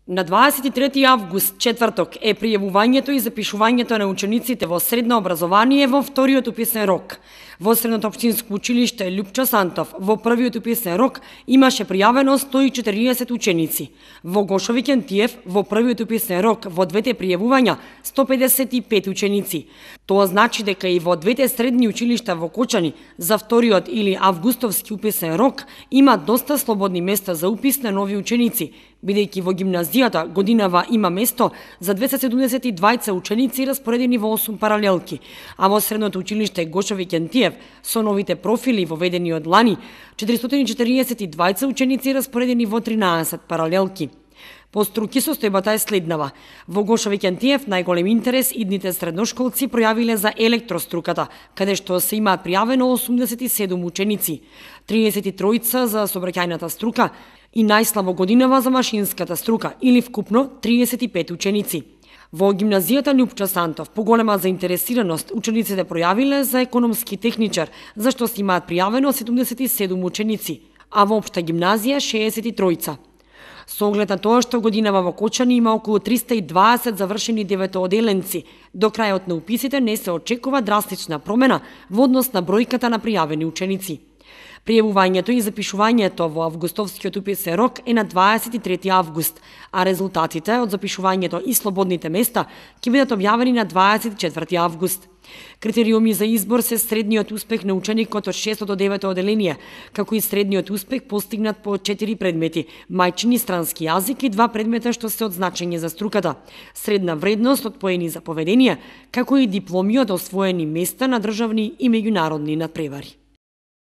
На 23 август, четврток, е пријавувањето и запишувањето на учениците во средно образование во вториот уписен рок. Во Средното општинско училиште Љупчо Сантов во првиот уписен рок имаше пријавено 140 ученици. Во Гошови Кентиев во првиот уписен рок во двете пријавувања 155 ученици. Тоа значи дека и во двете средни училишта во Кочани за вториот или августовски уписен рок има доста слободни места за упис на нови ученици, бидејќи во гимназијата годинава има место за 272 ученици распоредени во 8 паралелки, а во Средното училиште Гошови Кентиев со новите профили воведени од лани 442 ученици распоредени во 13 паралелки. По струки состојбата е следнава. Во Гошови Кентиев најголем интерес идните средношколци пројавиле за електроструката, каде што се имаат пријавено 87 ученици, 33 за сообраќајната струка и најслабо годинава за машинската струка, или вкупно 35 ученици. Во гимназијата Љупчо Сантов поголема заинтересираност учениците пројавиле за економски техничар, за што се имаат пријавено 77 ученици, а во општа гимназија 63. Со оглед на тоа што годинава во Кочани има околу 320 завршени деветооделенци, до крајот на уписите не се очекува драстична промена во однос на бројката на пријавени ученици. Пријавувањето и запишувањето во августовскиот уписен рок е на 23 август, а резултатите од запишувањето и слободните места ќе бидат објавени на 24 август. Критериуми за избор се средниот успех на ученикот од 6 до 9 оделение, како и средниот успех постигнат по 4 предмети, мајчин и странски јазик и 2 предмета што се од значење за струката, средна вредност од поени за поведение, како и дипломи од освоени места на државни и меѓународни надпревари.